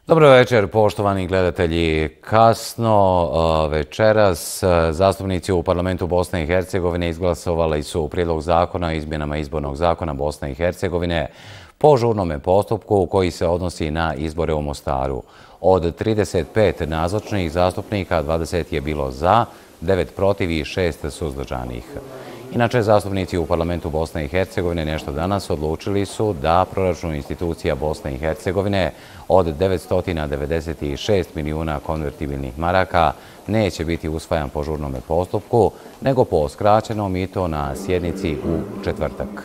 Dobro večer, poštovani gledatelji. Kasno večeras zastupnici u parlamentu Bosne i Hercegovine izglasovali su prijedlog zakona o izmjenama izbornog zakona Bosne i Hercegovine po žurnome postupku koji se odnosi na izbore u Mostaru. Od 35 nazočnih zastupnika 20 je bilo za, 9 protiv i 6 suzdržanih. Inače, zastupnici u parlamentu Bosne i Hercegovine nešto danas odlučili su da proračun institucija Bosne i Hercegovine od 996 milijuna konvertibilnih maraka neće biti usvajan po žurnome postupku, nego po skraćenom i to na sjednici u četvrtak.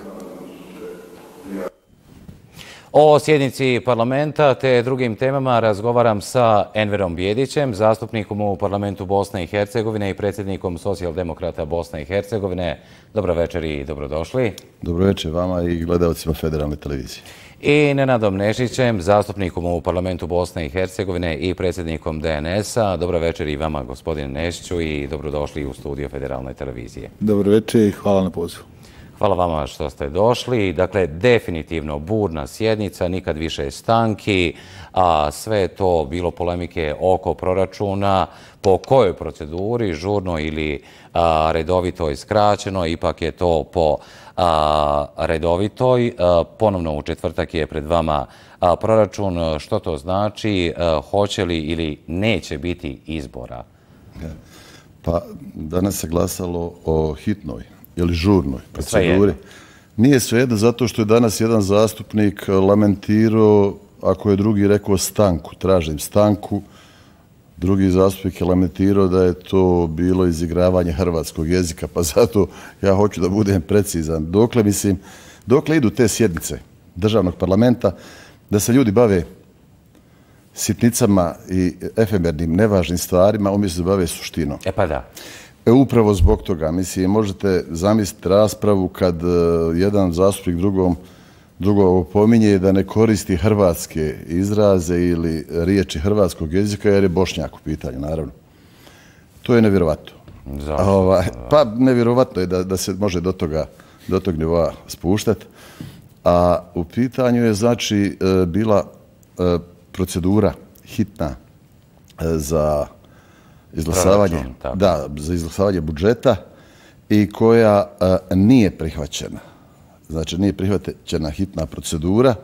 O sjednici parlamenta te drugim temama razgovaram sa Enverom Bijedićem, zastupnikom u parlamentu Bosne i Hercegovine i predsjednikom Socijaldemokrata Bosne i Hercegovine. Dobro večer i dobrodošli. Dobro večer vama i gledalcima Federalne televizije. I Nenadom Nešićem, zastupnikom u parlamentu Bosne i Hercegovine i predsjednikom DNS-a. Dobro večer i vama, gospodine Nešiću, i dobrodošli u studio Federalne televizije. Dobro večer i hvala na pozivu. Hvala vama što ste došli. Dakle, definitivno burna sjednica, nikad više stanki, a sve je to bilo polemike oko proračuna, po kojoj proceduri, žurnoj ili redovitoj skraćenoj, ipak je to po redovitoj. Ponovno u četvrtak je pred vama proračun. Što to znači? Hoće li ili neće biti izbora? Pa danas se glasalo o hitnoj ili žurnoj proceduri. Nije svejedno zato što je danas jedan zastupnik lamentirao, ako je drugi rekao stanku, tražim stanku, drugi zastupnik je lamentirao da je to bilo izigravanje hrvatskog jezika, pa zato ja hoću da budem precizan. Dokle idu te sjednice državnog parlamenta, da se ljudi bave sitnicama i efemernim, nevažnim stvarima, umjesto da bave suštinom. E pa da. Upravo zbog toga, mislim, možete zamisliti raspravu kad jedan zastupnik drugog pominje da ne koristi hrvatske izraze ili riječi hrvatskog jezika jer je Bošnjak u pitanju, naravno. To je nevjerovatno. Zašto? Pa nevjerovatno je da se može do tog nivoa spuštati. A u pitanju je znači bila procedura hitna za izglasavanje budžeta i koja nije prihvaćena. Znači, nije prihvaćena hitna procedura,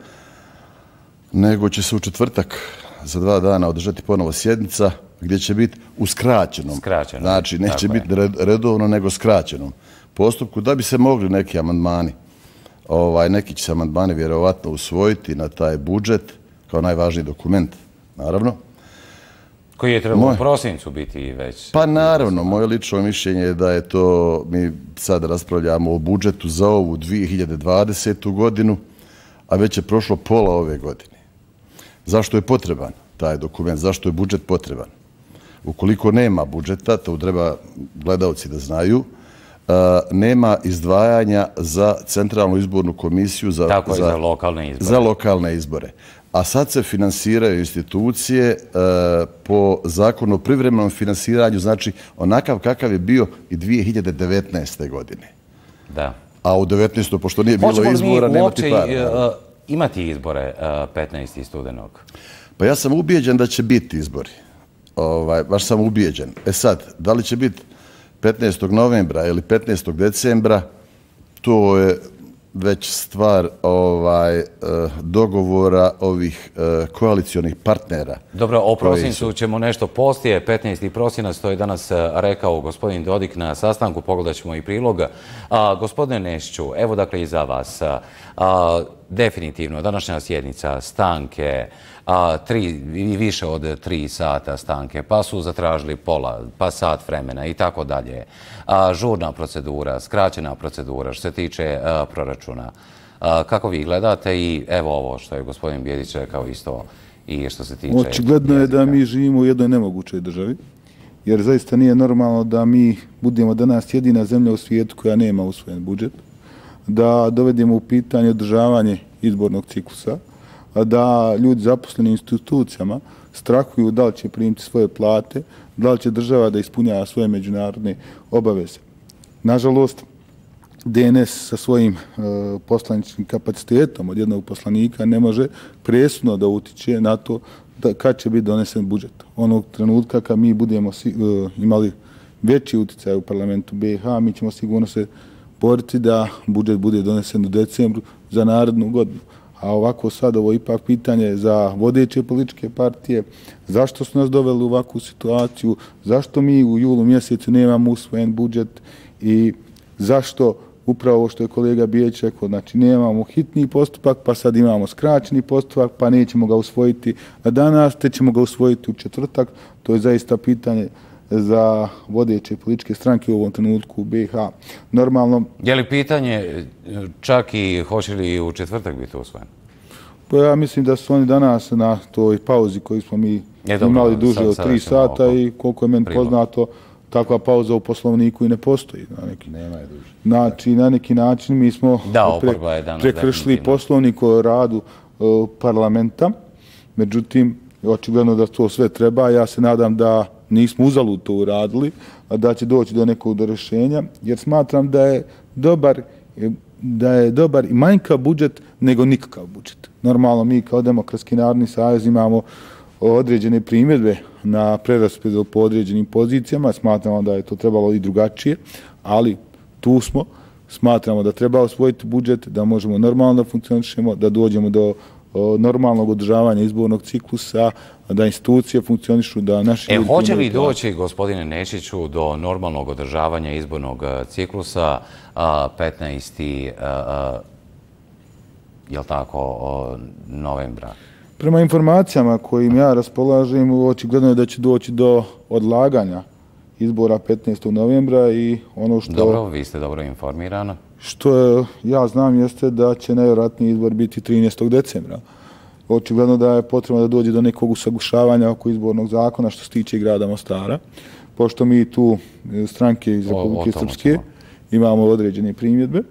nego će se u četvrtak za 2 dana održati ponovo sjednica gdje će biti u skraćenom. Znači, neće biti redovno, nego skraćenom postupku, da bi se mogli neki amandmani, neki će se amandmani vjerovatno usvojiti na taj budžet kao najvažniji dokument, naravno. Koji je trebalo u prosincu biti već? Pa naravno, moje lično mišljenje je da je to, mi sad raspravljamo o budžetu za ovu 2020. godinu, a već je prošlo pola ove godine. Zašto je potreban taj dokument? Zašto je budžet potreban? Ukoliko nema budžeta, to treba gledalci da znaju, nema izdvajanja za Centralnu izbornu komisiju za lokalne izbore. A sad se finansiraju institucije po zakonu o privremenom finansiranju, znači onakav kakav je bio i 2019. godine. Da. A u 2019. pošto nije bilo izbora, nema ti para. Hoćemo li uopće imati izbore 15. studenog? Pa ja sam ubijeđen da će biti izbori. Baš sam ubijeđen. E sad, da li će biti 15. novembra ili 15. decembra, to je već stvar dogovora ovih koalicijonih partnera. Dobro, o prosincu ćemo nešto poslije. 15. prosinac, to je danas rekao gospodin Dodik na sastanku, pogledat ćemo i prilog. Gospodine Nešiću, evo dakle i za vas. Definitivno, današnja sjednica, stanke, više od 3 sata stanke, pa su zatražili pola, pa sat vremena i tako dalje. Žurna procedura, skraćena procedura što se tiče proračuna. Kako vi gledate i evo ovo što je gospodin Bijedić rekao isto i što se tiče... Očigledno je da mi živimo u jednoj nemogućoj državi, jer zaista nije normalno da mi budemo danas jedina zemlja u svijetu koja nema usvojen budžet, da dovedemo u pitanje održavanje izbornog ciklusa, da ljudi zaposleni institucijama strahuju da li će primiti svoje plate, da li će država da ispunjava svoje međunarodne obaveze. Nažalost, DNS sa svojim poslaničkim kapacitetom od jednog poslanika ne može presudno da utiče na to kad će biti donesen budžet. Onog trenutka kad mi budemo imali veći uticaj u parlamentu BiH, mi ćemo sigurno se boriti da budžet bude donesen u decembru za narednu godinu. A ovako sad ovo je ipak pitanje za vodeće političke partije. Zašto su nas doveli u ovakvu situaciju? Zašto mi u julu mjesecu nemamo usvojen budžet? I zašto upravo ovo što je kolega Bijeć rekao, znači nemamo hitni postupak, pa sad imamo skraćeni postupak, pa nećemo ga usvojiti danas, te ćemo ga usvojiti u četvrtak. To je zaista pitanje za vodeće političke stranke u ovom trenutku u BiH. Normalno... Je li pitanje čak i hoće li u četvrtak biti usvojen? Pa ja mislim da su oni danas na toj pauzi koju smo mi imali duže od 3 sata i koliko je meni poznato, takva pauza u poslovniku i ne postoji. Nema je duže. Znači, na neki način mi smo prekršili poslovnik o radu parlamenta. Međutim, očigledno da to sve treba. Ja se nadam da nismo uzalud to uradili, da će doći do nekog rješenja, jer smatram da je dobar i manjkav budžet nego nikakav budžet. Normalno mi kao Demokratski narodni savez imamo određene primjedbe na preraspodjelu po određenim pozicijama, smatramo da je to trebalo i drugačije, ali tu smo, smatramo da treba osvojiti budžet, da možemo normalno da funkcionišemo, da dođemo do normalnog održavanja izbornog ciklusa, da institucije funkcionišu, da naši ljudi... Hoće li doći, gospodine Nešiću, do normalnog održavanja izbornog ciklusa 15. je li tako, novembra? Prema informacijama kojim ja raspolažem, očigledno je da će doći do odlaganja izbora 15. novembra i ono što... Dobro, vi ste dobro informirani. Što ja znam jeste da će najvjerojatniji izbor biti 13. decembra. Očigledno da je potrebno da dođe do nekog usaglašavanja oko izbornog zakona što se tiče grada Mostara, pošto mi tu stranke iz Republike Srpske imamo određene primjedbe.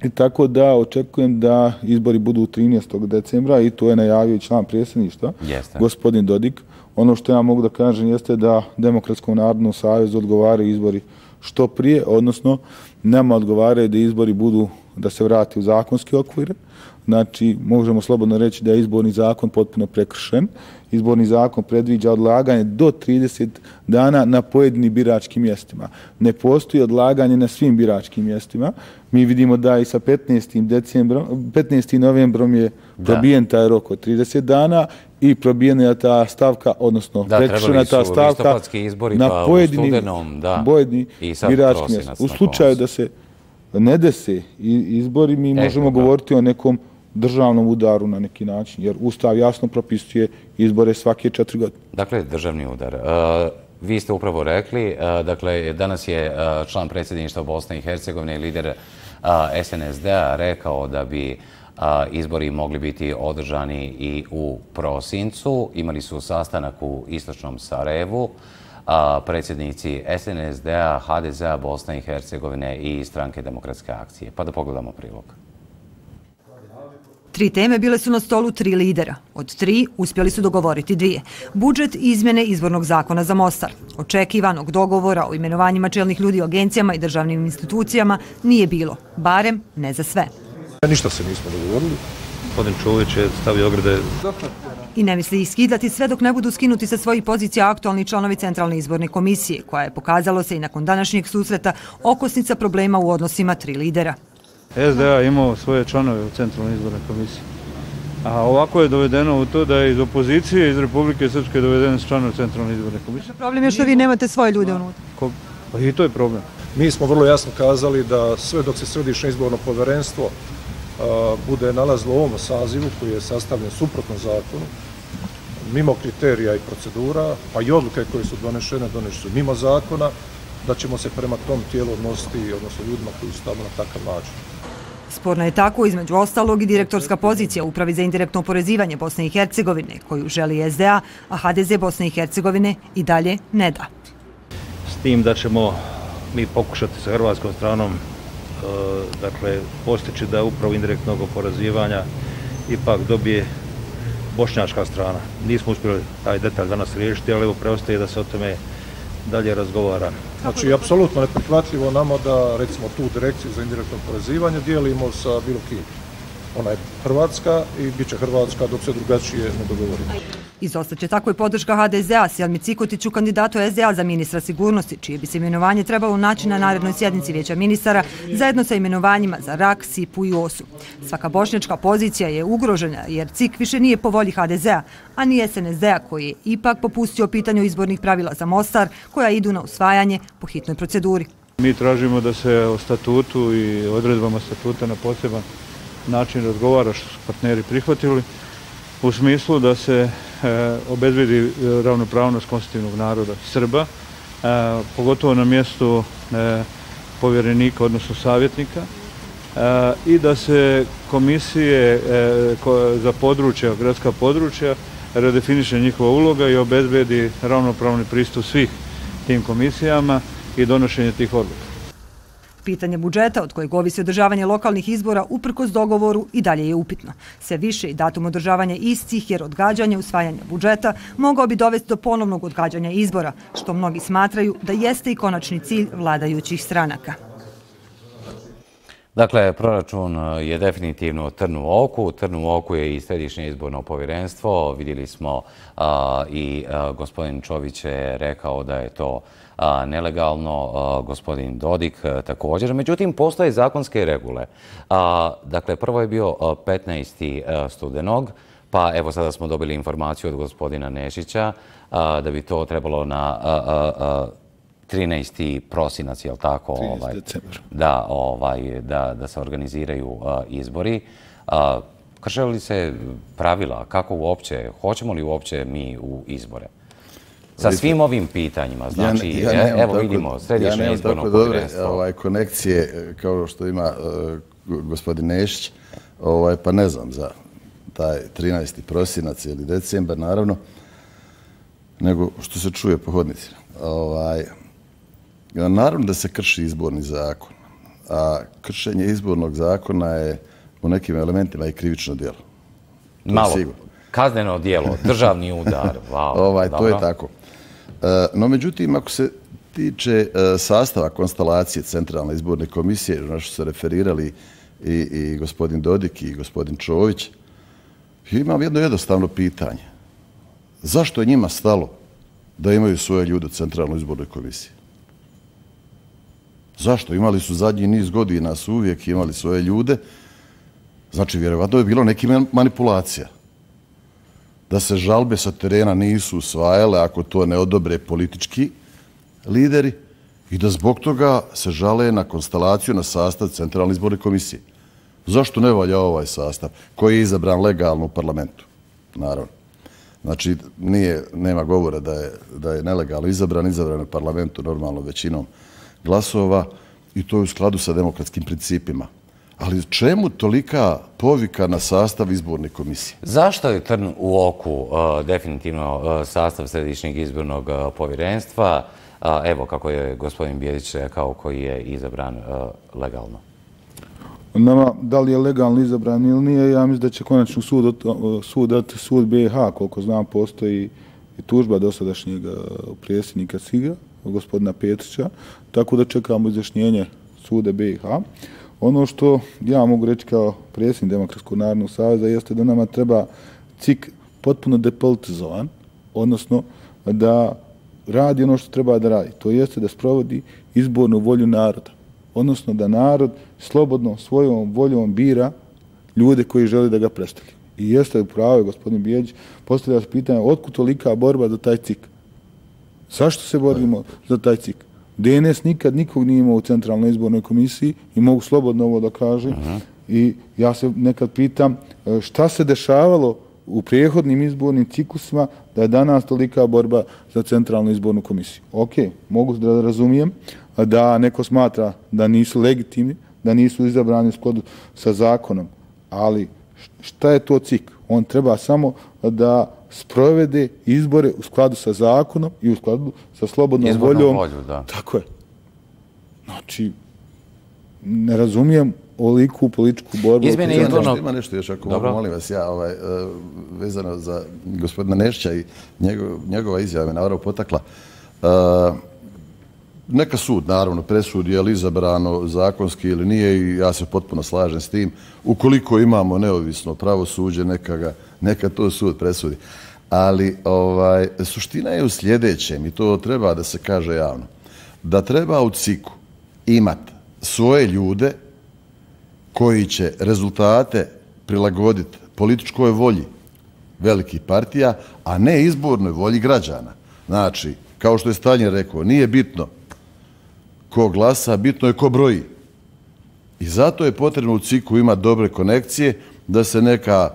I tako da očekujem da izbori budu 13. decembra i to je najavio i član predsjedništva, gospodin Dodik. Ono što ja mogu da kažem jeste da Demokratskom narodnom savezu odgovaraju izbori što prije, odnosno nama odgovaraju da izbori budu, da se vrati u zakonske okvire. Znači, možemo slobodno reći da je izborni zakon potpuno prekršen. Izborni zakon predviđa odlaganje do 30 dana na pojedinim biračkim mjestima. Ne postoji odlaganje na svim biračkim mjestima. Mi vidimo da i sa 15. novembrom je probijen taj rok od 30 dana i probijena je ta stavka, odnosno prekršena ta stavka na pojedinim biračkim mjestima. U slučaju da se ne dese izbori, mi možemo govoriti o nekom državnom udaru na neki način, jer Ustav jasno propisuje izbore svake 4 godine. Dakle, državni udar. Vi ste upravo rekli, dakle, danas je član predsjedništva Bosne i Hercegovine i lider SNSD-a rekao da bi izbori mogli biti održani i u prosincu. Imali su sastanak u istočnom Sarajevu. Predsjednici SNSD-a, HDZ-a, Bosne i Hercegovine i Stranke demokratske akcije. Pa da pogledamo prilog. 3 teme bile su na stolu 3 lidera. Od 3 uspjeli su dogovoriti 2. Budžet i izmjene izbornog zakona za Mostar. Očekivanog dogovora o imenovanjima čelnih ljudi u agencijama i državnim institucijama nije bilo. Barem ne za sve. Ništa se nismo dogovorili. Gospodin Čović je stavio ograde. I ne misli ih skidati sve dok ne budu skinuti sa svojih pozicija aktualni članovi Centralne izborne komisije, koja je pokazalo se i nakon današnjeg susreta okosnica problema u odnosima 3 lidera. SDA imao svoje članove u Centralnoj izbornoj komisiji. A ovako je dovedeno u to da je iz opozicije, iz Republike Srpske dovedeno s članove Centralne izborne komisije. Problem je što vi nemate svoje ljude unutra. Pa i to je problem. Mi smo vrlo jasno kazali da sve dok se Središnje izborno povjerenstvo bude nalazilo u ovom sazivu koji je sastavljen suprotno zakonu, mimo kriterija i procedura, pa i odluke koje su donešene su mimo zakona, da ćemo se prema tom tijelu odnositi, odnosno ljudima koji su tamo na takav način. Sporna je tako, između ostalog, i direktorska pozicija u Upravi za indirektno oporezivanje Bosne i Hercegovine, koju želi SDA, a HDZ Bosne i Hercegovine i dalje ne da. S tim da ćemo mi pokušati sa hrvatskom stranom postići da upravo indirektnog oporezivanja ipak dobije bošnjačka strana. Nismo uspjeli taj detalj danas riješiti, ali evo preostaje da se o tome dalje razgovara. Znači, apsolutno neprihvatljivo nama da, recimo, tu direkciju za indirektno oporezivanje dijelimo sa bilo kim. Ona je Hrvatska i bit će Hrvatska dok se drugačije ne dogovorimo. Izostaće tako i podrška HDZ-a Selmi Cikotiću, kandidatu SDA za ministra sigurnosti, čije bi se imenovanje trebalo naći na narednoj sjednici Vijeća ministara, zajedno sa imenovanjima za RAK, SIP-u i OS-u. Svaka bošnjačka pozicija je ugrožena jer CIK više nije po volji HDZ-a, a ni SNSD-a koji je ipak popustio pitanju izbornih pravila za Mostar, koja idu na usvajanje po hitnoj proceduri. Mi tražimo da se o statutu i odredbama statuta na poseban način razgovara, što su partneri prihvatili, u smislu da se obezbedi ravnopravnost konstitutivnog naroda Srba, pogotovo na mjestu povjerenika, odnosno savjetnika, i da se komisije za područja, gradska područja, redefiniše njihova uloga i obezbedi ravnopravni pristup svih tim komisijama i donošenje tih odluka. Pitanje budžeta, od kojeg ovisi održavanje lokalnih izbora, uprkos dogovoru i dalje je upitno. Sve više i datum održavanja istih, jer odgađanje usvajanja budžeta mogao bi dovesti do ponovnog odgađanja izbora, što mnogi smatraju da jeste i konačni cilj vladajućih stranaka. Dakle, proračun je definitivno trn u oku. Trn u oku je i Središnje izborno povjerenstvo. Vidjeli smo i gospodin Čović je rekao da je to nelegalno, gospodin Dodik također. Međutim, postoje zakonske regule. Dakle, prvo je bio 15. studenog, pa evo sada smo dobili informaciju od gospodina Nešića da bi to trebalo na 13. prosinac, je li tako? 13. decembar. Da se organiziraju izbori. Krše li se pravila? Kako uopće? Hoćemo li uopće mi u izbore? Sa svim ovim pitanjima, znači, evo vidimo, Središnje izborno povjerenstvo. Ja nemam konekcije kao što ima gospodin Nešić, pa ne znam za taj 13. prosinac ili decembar, naravno, nego što se čuje po hodnicima. Naravno da se krši izborni zakon, a kršenje izbornog zakona je u nekim elementima i krivično djelo. Malo, kazneno djelo, državni udar. To je tako. No, međutim, ako se tiče sastava konstelacije Centralne izborne komisije, na što se referirali i gospodin Dodik i gospodin Čović, imam jedno jednostavno pitanje. Zašto je njima stalo da imaju svoje ljude u Centralnoj izbornoj komisiji? Zašto? Imali su zadnji niz godina, su uvijek imali svoje ljude. Znači, vjerovatno je bilo neki manipulacija. Da se žalbe sa terena nisu usvajale ako to ne odobre politički lideri i da zbog toga se žale na konstelaciju, na sastav Centralne izborne komisije. Zašto ne valja ovaj sastav koji je izabran legalno u parlamentu? Naravno. Znači, nema govora da je nelegalno izabran u parlamentu normalno većinom glasova i to je u skladu sa demokratskim principima. Ali čemu tolika povika na sastav izborne komisije? Zašto je trn u oku definitivno sastav Središnjeg izbornog povjerenstva? Evo kako je gospodin Bijedić rekao, koji je izabran legalno. Nama, da li je legalno izabran ili nije, ja mislim da će konačno sud BiH, koliko znam, postoji i tužba dosadašnjeg predsjednika SIG-a, gospodina Petrića, tako da čekamo izjašnjenje suda BiH. Ono što ja mogu reći kao predsjednik Demokratskog narodnog saveza jeste da nama treba CIK potpuno depolitizovan, odnosno da radi ono što treba da radi. To jeste da sprovodi izbornu volju naroda. Odnosno da narod slobodno svojom voljom bira ljude koji žele da ga predstavljaju. I jeste upravo, gospodin Bijedić, postavlja se pitanje otkud tolika borba za taj CIK? Zašto se borimo za taj CIK? DNS nikad nikog nije imao u Centralnoj izbornoj komisiji i mogu slobodno ovo da kažem. I ja se nekad pitam šta se dešavalo u prijehodnim izbornim ciklusima da je danas tolika borba za Centralnu izbornu komisiju. Ok, mogu da razumijem da neko smatra da nisu legitimni, da nisu izabrani u skladu sa zakonom, ali šta je to CIK? On treba samo da sprovede izbore u skladu sa zakonom i u skladu sa slobodnom voljom. Tako je. Znači, ne razumijem oliku političku borbu. Ima nešto još, ako molim vas, vezano za gospodina Nešića i njegova izjava me naravno potakla. neka sud, naravno, presudi je li izabrano zakonski ili nije i ja se potpuno slažem s tim. Ukoliko imamo neovisno pravosuđe, neka to sud presudi. Ali suština je u sljedećem i to treba da se kaže javno. Da treba u CIK-u imati svoje ljude koji će rezultate prilagoditi političkoj volji velikih partija, a ne izbornoj volji građana. Znači, kao što je Staljin rekao, nije bitno ko glasa, bitno je ko broji. I zato je potrebno u CIK-u imati dobre konekcije, da se neka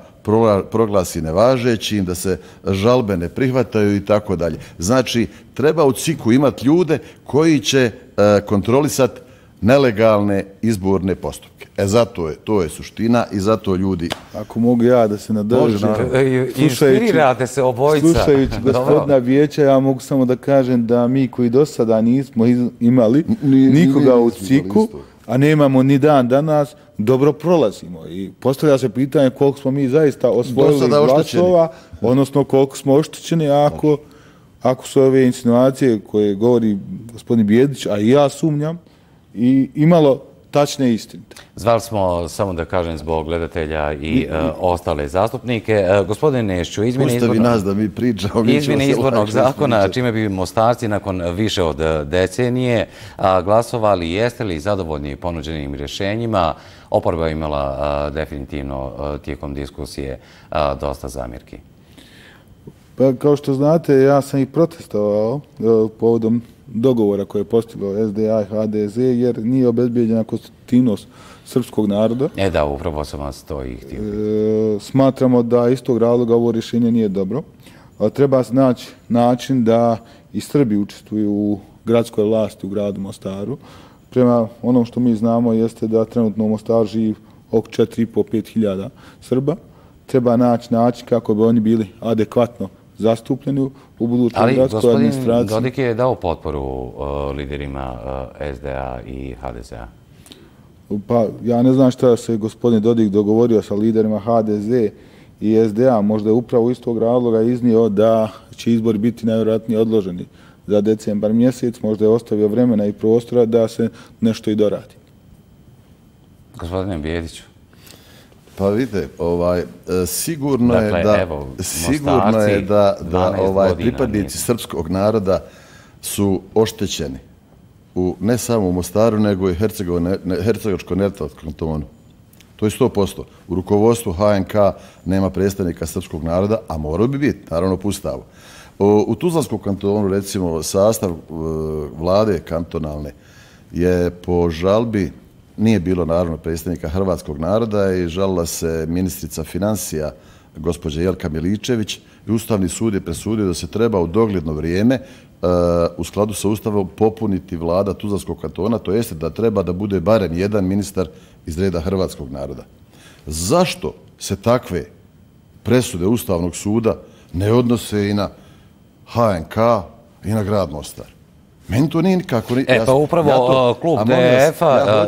proglasi nevažećim, da se žalbe ne prihvataju i tako dalje. Znači, treba u CIK-u imati ljude koji će kontrolisati nelegalne izborne postupke. Zato to je suština i zato ljudi... Ako mogu ja da se nadožem... Inspirirate se obojica. Slušajući gospodina Vijeća, ja mogu samo da kažem da mi koji do sada nismo imali nikoga u CIK-u, a nemamo ni dan danas, dobro prolazimo. I postavlja se pitanje koliko smo mi zaista osvojili glasova, odnosno koliko smo oštećeni ako su ove insinuacije koje govori gospodin Bijedić, a i ja sumnjam, i imalo tačne istinite. Zvali smo, samo da kažem, zbog gledatelja i ostale zastupnike. Gospodine Nešću, izmjene izbornog zakona, čime bi Mostarci nakon više od decenije glasovali, jeste li zadovoljni ponuđenim rješenjima? Oporba je imala definitivno tijekom diskusije dosta zamjerki. Pa, kao što znate, ja sam i protestovao povodom dogovora koje je postiglo SDA i HDZ, jer nije obezbijeđena konstitutivnost srpskog naroda. Da, upravo sam vas to i htio. Smatramo da iz tog razloga ovo rješenje nije dobro. Treba naći način da i Srbi učestvuju u gradskoj vlasti u gradu Mostaru. Prema onom što mi znamo jeste da trenutno u Mostaru živi oko 4,5-5 hiljada Srba. Treba naći način kako bi oni bili adekvatno zastupljeni u budućoj gradskoj administraciji. Ali gospodin Dodik je dao potporu liderima SDA i HDZ-a. Pa ja ne znam šta se gospodin Dodik dogovorio sa liderima HDZ i SDA. Možda je upravo iz tog razloga iznio da će izbori biti najvjerojatnije odloženi za decembar mjesec. Možda je ostavio vremena i prostora da se nešto i doradi. Gospodine Bijediću. Pa vidite, sigurno je da pripadnici srpskog naroda su oštećeni ne samo u Mostaru, nego i Hercegovačko-Neretvanskom kantonu. To je 100%. U rukovodstvu HNK nema predstavnika srpskog naroda, a morao bi biti, naravno, po Ustavu. U Tuzlanskom kantonu, recimo, sastav vlade kantonalne je po žalbi nije bilo, naravno, predstavnika hrvatskog naroda i žalila se ministrica financija, gospođa Jelka Miličević, i Ustavni sud je presudio da se treba u dogledno vrijeme u skladu sa Ustavom popuniti vlada Tuzlanskog kantona, to jeste da treba da bude barem jedan ministar iz reda hrvatskog naroda. Zašto se takve presude Ustavnog suda ne odnose i na HNK i na grad Mostar? Meni to nije nikako... Pa upravo klub DF-a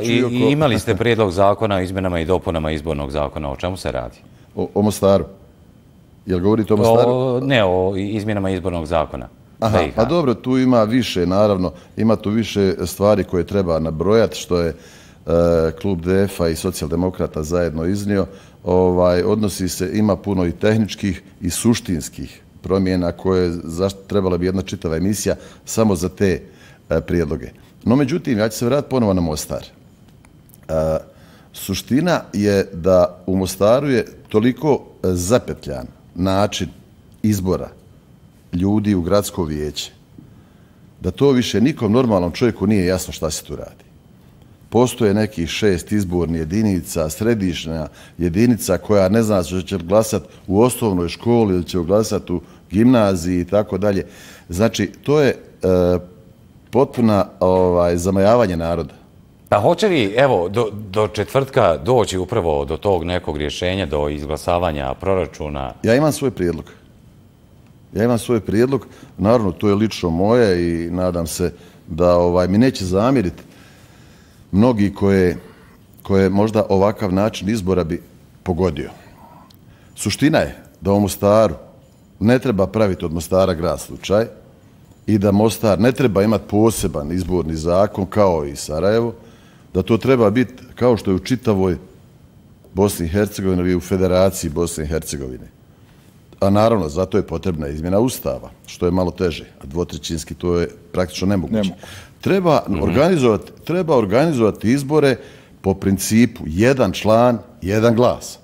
imali ste prijedlog zakona o izmjenama i dopunama izbornog zakona. O čemu se radi? O Mostaru. Jel govorite o Mostaru? Ne, o izmjenama izbornog zakona. Pa dobro, tu ima više, naravno. Ima tu više stvari koje treba nabrojati, što je klub DF-a i socijaldemokrata zajedno iznio. Odnosi se, ima puno i tehničkih i suštinskih promjena koje trebala bi jedna čitava emisija samo za te prijedloge. No, međutim, ja ću se vratiti ponovo na Mostar. Suština je da u Mostaru je toliko zapetljan način izbora ljudi u gradsko vijeće, da to više nikom normalnom čovjeku nije jasno šta se tu radi. Postoje nekih 6 izbornih jedinica, središnja jedinica koja ne zna što će glasati u osnovnoj školi ili će glasati u gimnaziji i tako dalje. Znači, to je potpuna zamajavanje naroda. Pa hoće li, evo, do četvrtka doći upravo do tog nekog rješenja, do izglasavanja proračuna? Ja imam svoj prijedlog. Naravno, to je lično moje i nadam se da mi neće zamjeriti mnogi koje možda ovakav način izbora bi pogodio. Suština je da u Mostaru ne treba praviti od Mostara grad slučaj, i da Mostar ne treba imati poseban izborni zakon kao i Sarajevo, da to treba biti kao što je u čitavoj Bosni i Hercegovini ili u Federaciji Bosne i Hercegovine. A naravno, zato je potrebna izmjena Ustava, što je malo teže, a dvotrećinski to je praktično nemoguće. Treba organizovati izbore po principu jedan član, jedan glas.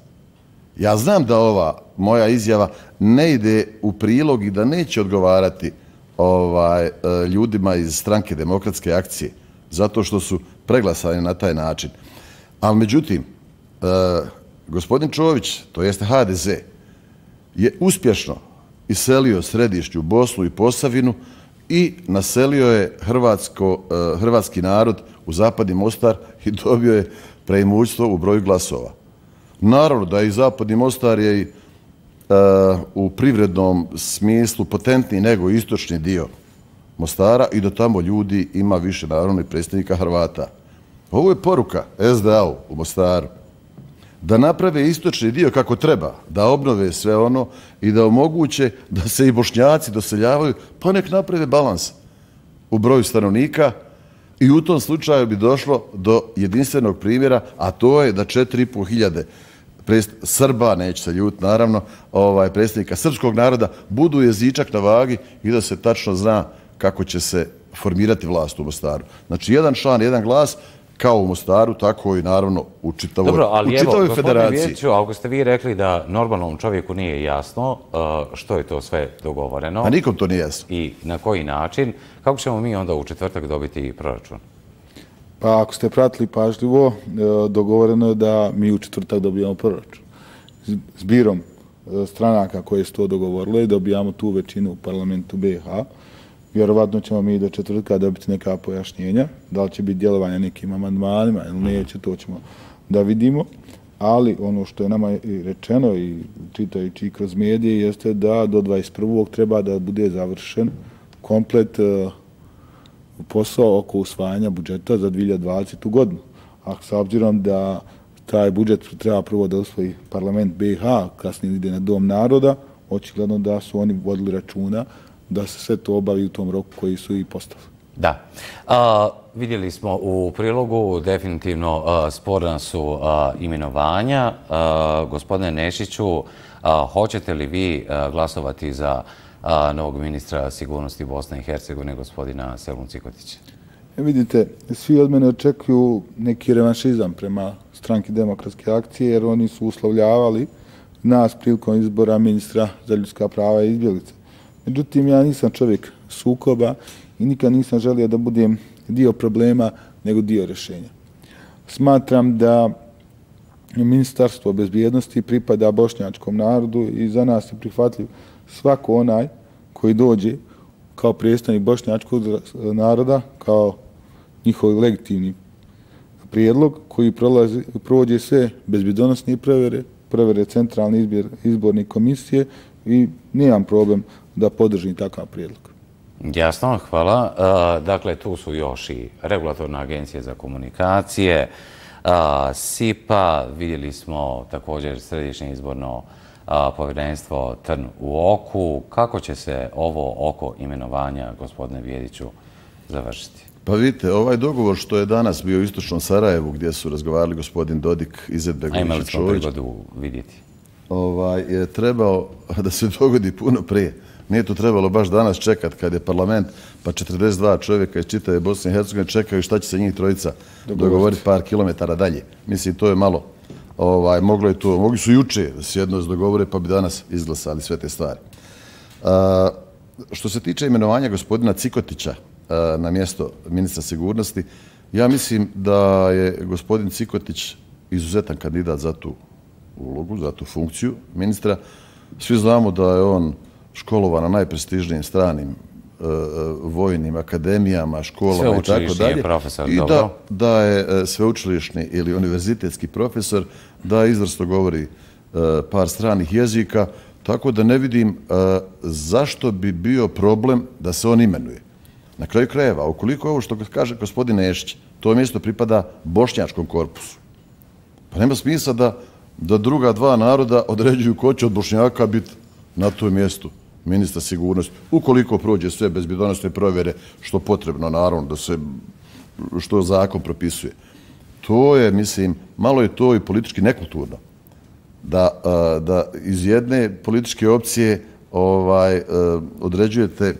Ja znam da ova moja izjava ne ide u prilog i da neće odgovarati ljudima iz Stranke demokratske akcije, zato što su preglasani na taj način. Ali međutim, gospodin Čović, to jeste HDZ, je uspješno iselio središnju Bosnu i Posavinu i naselio je hrvatski narod u zapadni Mostar i dobio je preimućstvo u broju glasova. Naravno da i zapadni Mostar je u privrednom smislu potentniji nego istočni dio Mostara i da tamo ljudi ima više naravno i predstavnika Hrvata. Ovo je poruka SDA-u u Mostaru da naprave istočni dio kako treba, da obnove sve ono i da omoguće da se i Bošnjaci doseljavaju, pa nek naprave balans u broju stanovnika i u tom slučaju bi došlo do jedinstvenog primjera, a to je da 4.500 Srba, neće se ljut naravno, predstavnika srpskog naroda, budu jezičak na vagi i da se tačno zna kako će se formirati vlast u Mostaru. Znači, jedan član, jedan glas, kao u Mostaru, tako i naravno u čitavoj federaciji. Dobro, ali evo, gospodine Vjeriću, ako ste vi rekli da normalnom čovjeku nije jasno što je to sve dogovoreno. A nikom to nije jasno. I na koji način, kako ćemo mi onda u četvrtak dobiti proračun? Pa ako ste pratili pažljivo, dogovoreno je da mi u četvrtak dobijamo proračun. Zbirom stranaka koje su to dogovorile, dobijamo tu većinu u parlamentu BiH. Vjerovatno ćemo mi do četvrtka dobiti neka pojašnjenja, da li će biti djelovanje nekim amandmanima ili neće, to ćemo da vidimo. Ali ono što je nama rečeno i čitajući kroz medije jeste da do 21. treba da bude završen komplet posao oko usvajanja budžeta za 2020. godinu. A s obzirom da taj budžet treba prvo da usvoji parlament BiH, kasnije ide na Dom naroda, očigledno da su oni vodili računa da se sve to obavi u tom roku koji su i postavili. Da. Vidjeli smo u prilogu, definitivno sporna su imenovanja. Gospodine Nešiću, hoćete li vi glasovati za novog ministra sigurnosti Bosne i Hercegovine, gospodina Selmu Cikotića? Vidite, svi od mene očekuju neki revanšizam prema Stranki demokratske akcije, jer oni su uslovljavali nas prilikom izbora ministra za ljudska prava i izbjeglice. Međutim, ja nisam čovjek sukoba i nikad nisam želio da budem dio problema, nego dio rješenja. Smatram da Ministarstvo bezbjednosti pripada bošnjačkom narodu i za nas je prihvatljiv svako onaj koji dođe kao predstavnik bošnjačkog naroda, kao njihov legitimni prijedlog koji prođe sve bezbjedonosne provjere centralne izborne komisije i nemam problem da podržim takav prijedlog. Jasno, hvala. Dakle, tu su još i Regulatorna agencija za komunikacije, SIPA, vidjeli smo također Središnje izborno povjerenstvo Trn u oku. Kako će se ovo oko imenovanja, gospodine Vjeriću, završiti? Pa vidite, ovaj dogovor što je danas bio u istočnom Sarajevu, gdje su razgovarali gospodin Dodik, Izetbegović i Čović, imali smo prigodu vidjeti. Je trebao da se dogodi puno prije. Nije to trebalo baš danas čekat kad je parlament, pa 42 čovjeka iz čitave Bosne i Hercegovine čekaju šta će se njih trojica dogovoriti par kilometara dalje. Mislim, to je malo. Mogli su juče da se jedno dogovore, pa bi danas izglasali sve te stvari. Što se tiče imenovanja gospodina Cikotića na mjesto ministra sigurnosti, ja mislim da je gospodin Cikotić izuzetan kandidat za tu ulogu, za tu funkciju ministra. Svi znamo da je on školovan na najprestižnijim stranim vojnim akademijama, školama i tako dalje. I da je sveučilišni ili univerzitetski profesor, da izvrsno govori par stranih jezika, tako da ne vidim zašto bi bio problem da se on imenuje. Na kraju krajeva, ukoliko ovo što kaže gospodin Nešić, to mjesto pripada bošnjačkom korpusu. Pa nema smisla da druga dva naroda određuju ko će od Bošnjaka biti na tom mjestu ministra sigurnosti, ukoliko prođe sve bezbjednosne provjere, što potrebno, naravno, da se, što zakon propisuje. To je, mislim, malo je to i politički nekulturno. Da iz jedne političke opcije određujete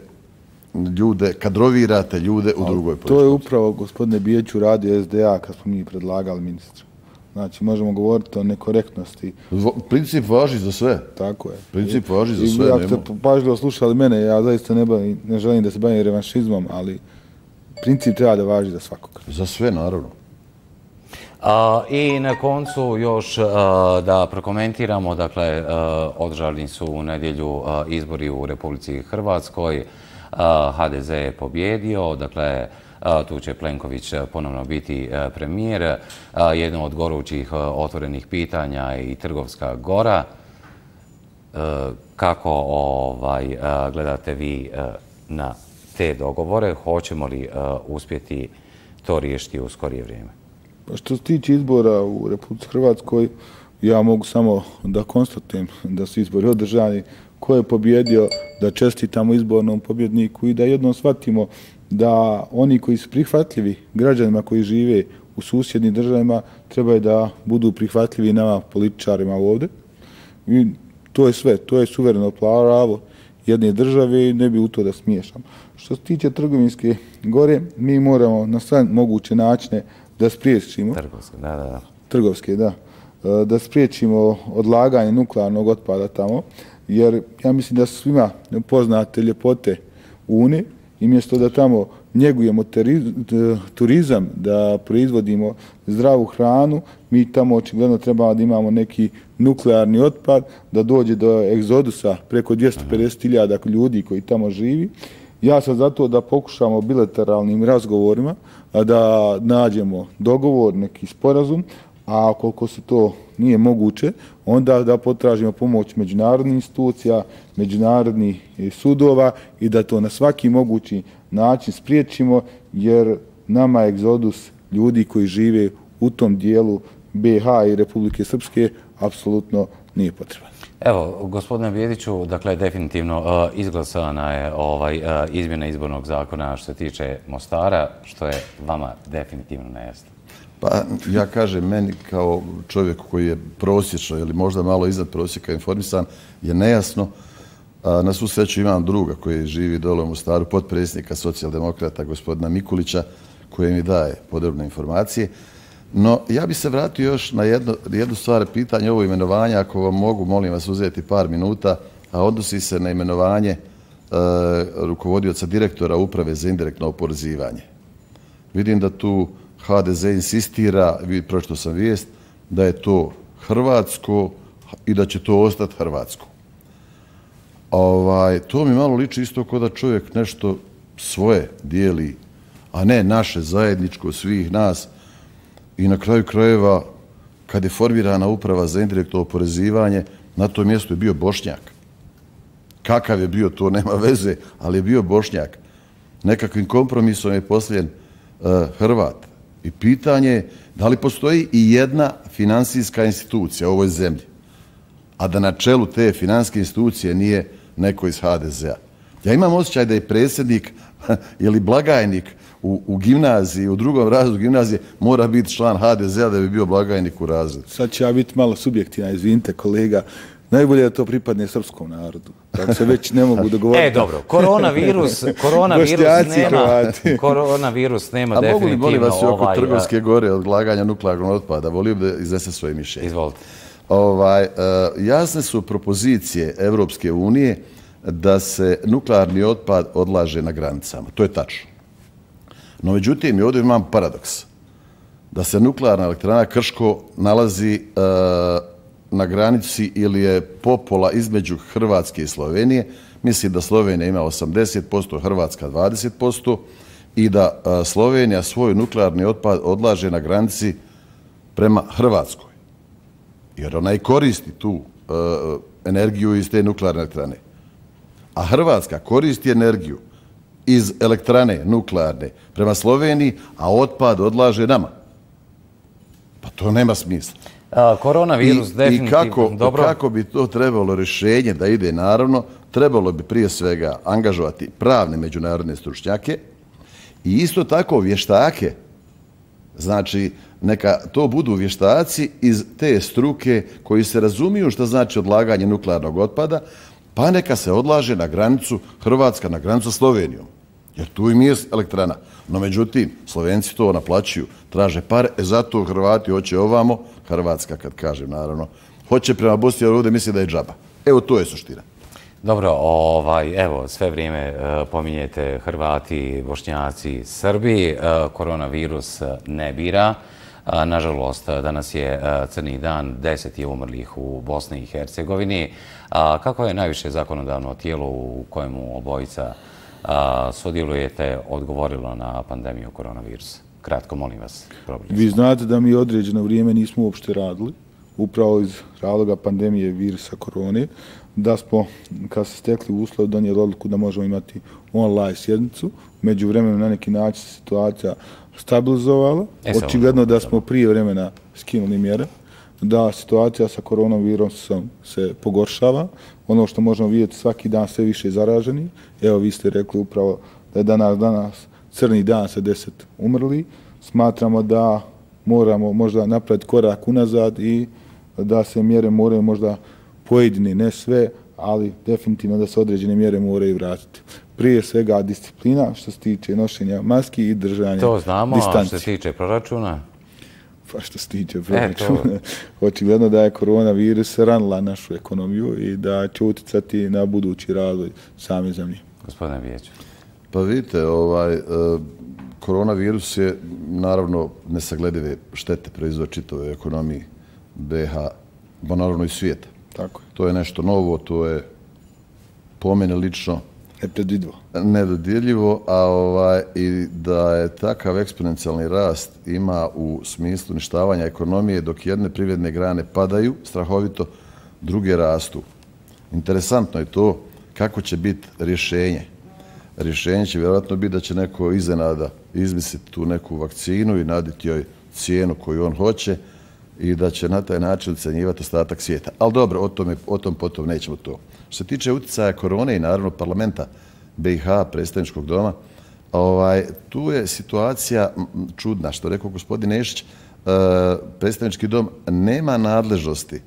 ljude, kadrovirate ljude u drugoj političkoj. To je upravo, gospodine Bijeću, radio SDA kad smo mi predlagali ministra. Znači, možemo govoriti o nekorektnosti. Princip važi za sve. Tako je. Princip važi za sve. I ako ste pažljivo slušali mene, ja zaista ne želim da se bavim revanšizmom, ali princip treba da važi za svakog. Za sve, naravno. I na koncu još da prokomentiramo, dakle, održani su u nedjelju izbori u Republici Hrvatskoj. HDZ je pobjedio, dakle, tu će Plenković ponovno biti premijer. Jedno od gorućih otvorenih pitanja je i Trgovska gora. Kako gledate vi na te dogovore? Hoćemo li uspjeti to riješiti u skorije vrijeme? Što se tiče izbora u Republici Hrvatskoj, ja mogu samo da konstatujem da su izbori održani, ko je pobjedio, da čestitamo izbornom pobjedniku i da jednom shvatimo da oni koji su prihvatljivi građanima koji žive u susjednim državama trebaju da budu prihvatljivi nama političarima ovdje. I to je sve, to je suvereno pravo jedne države i ne bi u to da smiješam. Što se tiče Trgovinske gore, mi moramo na sve moguće načine da spriječimo Trgovske, da spriječimo odlaganje nuklearnog otpada tamo, jer ja mislim da su svima poznate ljepote Une i mjesto da tamo njegujemo turizam, da proizvodimo zdravu hranu, mi tamo očigledno trebamo da imamo neki nuklearni otpad, da dođe do egzodusa preko 250.000 ljudi koji tamo živi. Ja sam zato da pokušamo bilateralnim razgovorima da nađemo dogovor, neki sporazum, a koliko se to nije moguće, onda da potražimo pomoć međunarodnih institucija, međunarodnih sudova i da to na svaki mogući način spriječimo, jer nama egzodus ljudi koji žive u tom dijelu BiH i Republike Srpske apsolutno nije potreban. Evo, gospodine Bijediću, dakle, definitivno izglasana je izmjena izbornog zakona što se tiče Mostara, što je vama definitivno nejasno. Pa ja kažem, meni kao čovjeku koji je prosječno ili možda malo iznad prosjeka informisan, je nejasno. Na svu sreću imam druga koji živi dole u Mostaru, potpredsjednika socijaldemokrata gospodina Mikulića, koji mi daje podrobne informacije. No, ja bi se vratio još na jednu stvar, pitanje ovo imenovanja, ako vam mogu, molim vas uzeti par minuta, a odnosi se na imenovanje rukovodioca direktora Uprave za indirektno oporezivanje. Vidim da tu HDZ insistira, pročitao sam vijest, da je to hrvatsko i da će to ostati hrvatsko. To mi malo liči isto kao da čovjek nešto svoje dijeli, a ne naše zajedničko svih nas. I na kraju krajeva, kad je formirana Uprava za indirektno oporezivanje, na tom mjestu je bio Bošnjak. Kakav je bio, to nema veze, ali je bio Bošnjak. Nekakvim kompromisom je posljen Hrvat. I pitanje je da li postoji i jedna finansijska institucija u ovoj zemlji, a da na čelu te finansijske institucije nije neko iz HDZ-a. Ja imam osjećaj da je predsjednik ili blagajnik u gimnaziji, u drugom razredu gimnazije, mora biti član HDZ-a da bi bio blagajnik u razredu. Sad će ja biti malo subjektivna, izvinite kolega. Najbolje da to pripadne srpskom narodu. Tako se već ne mogu dogovoriti. Dobro, koronavirus nema definitivno... A mogu li, molim vas, oko Trgovske gore, odlaganja nuklearnog otpada? Volio bi da iznese svoje mišljenje. Izvolite. Jasne su propozicije Evropske unije da se nuklearni otpad odlaže na granicama. To je tačno. No, međutim, i ovdje imam paradoks. Da se nuklearna elektrana Krško nalazi na granici ili je popola između Hrvatske i Slovenije. Mislim da Slovenija ima 80%, Hrvatska 20% i da Slovenija svoj nuklearni otpad odlaže na granici prema Hrvatskoj. Jer ona i koristi tu energiju iz te nuklearne elektrane. A Hrvatska koristi energiju iz elektrane nuklearne prema Sloveniji, a otpad odlaže nama. Pa to nema smisla. Koronavirus definitivno. I kako bi to trebalo rješenje da ide, naravno, trebalo bi prije svega angažovati pravne međunarodne stručnjake i isto tako vještake. Znači, neka to budu vještaci iz te struke koji se razumiju što znači odlaganje nuklearnog otpada, pa neka se odlaže na granicu Hrvatska, na granicu Slovenijom. Jer tu im je elektrana. No, međutim, Slovenci to naplaćuju, traže pare, zato Hrvati hoće ovamo, Hrvatska, kad kažem, naravno, hoće prema Bosni, jer ovdje misli da je džaba. Evo, to je suština. Dobro, evo, sve vrijeme pominjete Hrvati, Bošnjaci, Srbi, koronavirus ne bira. Nažalost, danas je crni dan, 10 je umrlih u Bosni i Hercegovini. Kako je najviše zakonodavno tijelo u kojemu obojica sudjelujete odgovorilo na pandemiju koronavirusa? Kratko, molim vas. Vi znate da mi određeno vrijeme nismo uopšte radili, upravo iz razloga pandemije virusa korone, da smo, kad se stekli uslov, donijeli odluku da možemo imati online sjednicu. Među vremenu na neki način se situacija stabilizovala. Očigledno da smo prije vremena skinuli mjere, da situacija sa koronavirusom se pogoršava. Ono što možemo vidjeti, svaki dan sve više zaraženi. Evo, vi ste rekli upravo da je danas crni dan sa 10 umrli. Smatramo da moramo možda napraviti korak unazad i da se mjere moraju možda pojedine, ne sve, ali definitivno da se određene mjere moraju vratiti. Prije svega disciplina što se tiče nošenja maski i držanja distanci. To znamo, a što se tiče proračuna? Pa što se tiče proračuna, očigledno da je koronavirus ranila našu ekonomiju i da će uticati na budući razvoj same zemlje. Gospodine Bijeć. Pa vidite, koronavirus je naravno nesagledive štete proizvod čitave ekonomiji BiH, pa naravno i svijeta. Tako je. To je nešto novo, to je po mene lično nedodjeljivo, a i da je takav eksponencijalni rast ima u smislu uništavanja ekonomije, dok jedne privredne grane padaju strahovito, druge rastu. Interesantno je to kako će biti rješenje. Rješenje će vjerojatno biti da će neko iznenada izmisliti tu neku vakcinu i naditi joj cijenu koju on hoće i da će na taj način ucenjivati ostatak svijeta. Ali dobro, o tom potom nećemo to. Što se tiče utjecaja korone i naravno parlamenta BiH, predstavničkog doma, tu je situacija čudna. Što rekao gospodin Nešić, predstavnički dom nema nadležnosti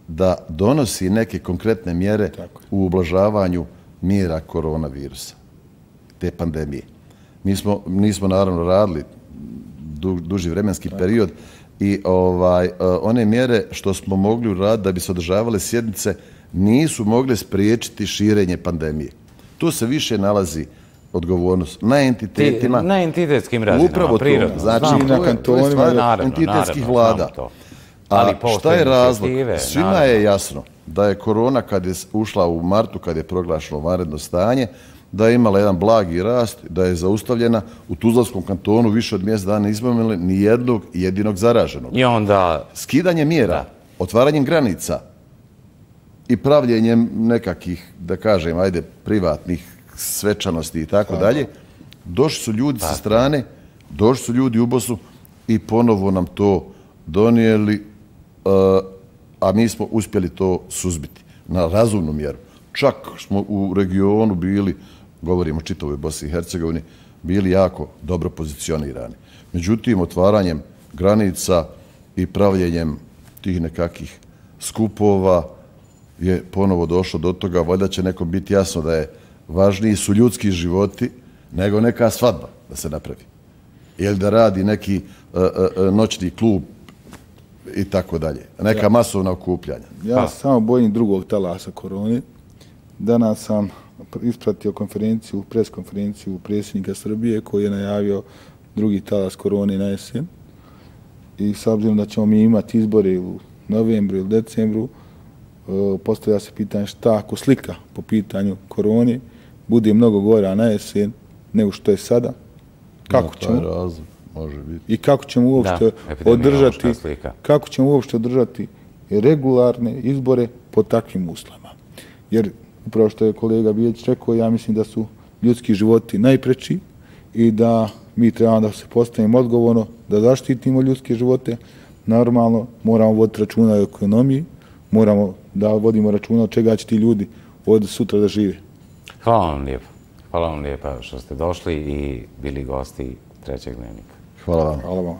da donosi neke konkretne mjere u ublažavanju mjera koronavirusa, te pandemije. Mi nismo naravno radili duži vremenski period i one mjere što smo mogli uraditi da bi se održavale sjednice nisu mogle spriječiti širenje pandemije. Tu se više nalazi odgovornost na entitetima. Na entitetskim razinama, upravo prirodno. Znači, na kantonima entitetskih vlada. A šta je razlog? Svima je jasno da je korona kad je ušla u martu, kad je proglašeno vanredno stanje, da je imala jedan blagi rast, da je zaustavljena. U Tuzlanskom kantonu više od mjesec dana nismo imali ni jednog jedinog zaraženog. I onda... Skidanje mjera, otvaranjem granica i pravljenjem nekakvih, da kažem, privatnih svečanosti i tako dalje, došli su ljudi sa strane, došli su ljudi u Bosnu i ponovo nam to donijeli, a mi smo uspjeli to suzbiti na razumnu mjeru. Čak smo u regionu bili, govorimo o čitavoj Bosni i Hercegovini, bili jako dobro pozicionirani. Međutim, otvaranjem granica i pravljenjem tih nekakvih skupova je ponovo došlo do toga. Valjda će nekom biti jasno da je važniji su ljudski životi nego neka svadba da se napravi. Ili da radi neki noćni klub i tako dalje. Neka masovna okupljanja. Ja samo bojim drugog talasa korone. Danas sam ispratio preskonferenciju predsjednika Srbije koji je najavio drugi talas korone na jesen. I s obzirom da ćemo mi imati izbore u novembru ili decembru, postavlja se pitanje šta ako slika po pitanju korone bude mnogo gora na jesen nego što je sada. Kako ćemo? Razlog, može biti. I kako ćemo uopšte održati regularne izbore po takvim uslovima. Jer upravo što je kolega Bijeć rekao, ja mislim da su ljudski životi najpreči i da mi trebamo da se postavimo odgovorno, da zaštitimo ljudske živote, normalno moramo voditi računa o ekonomiji, moramo da vodimo računa od čega će ti ljudi od sutra da žive. Hvala vam lijepo. Hvala vam lijepa što ste došli i bili gosti Trećeg dnevnika. Hvala vam. Hvala vam.